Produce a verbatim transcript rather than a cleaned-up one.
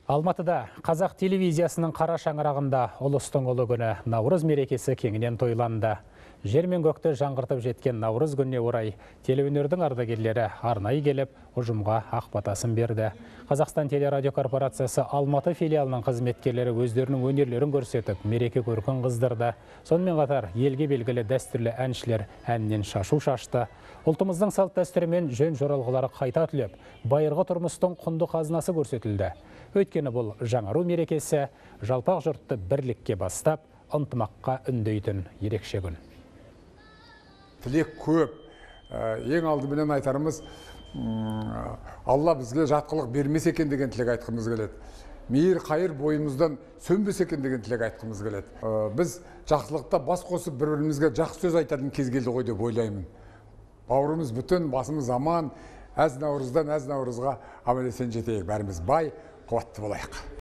Алматыда қазақ телевизиясының қара шаңырағында ұлыстың ұлы күні Наурыз мерекесі кеңінен тойланды. Жер мен көкті жаңғыртып жеткен Наурыз күніне орай телеөнердің ардагерлері арнайы келіп, ұжымға ақ батасын берді. Қазақстан телерадио корпорациясы Алматы филиалының қызметкерлері өздерінің өнерлерін көрсетіп, мереке көркін қыздырды. Сонымен қатар елге белгілі дәстүрлі әншілер әннен шашу шашты. Ұлтымыздың салт дәстүрімен жөн жоралғылары қайта түлеп, байырғы тұрмыстың құнды қазынасы көрсетілді. Өйткені бұл жаңару мерекесі жалпақ жұртты бірлікке бастап, ынтымаққа үндейтін ерекше күн. Тілек көп. Ең алдыменен айтарымыз, Алла бізге жатқылық бермес екен деген тілек айтқымыз келеді. Мейір қайыр бойымыздан сөнбес екен деген тілек айтқымыз келеді. Біз жақсылықта бас қосып бір-бірімізге жақсы сөз айтатын кез келді ғой деп ойлаймын. Бауырымыз бүтін, басымыз аман, әз наурыздан әз наурызға аман есен жетейік. Бәріміз бай, қуатты болайық.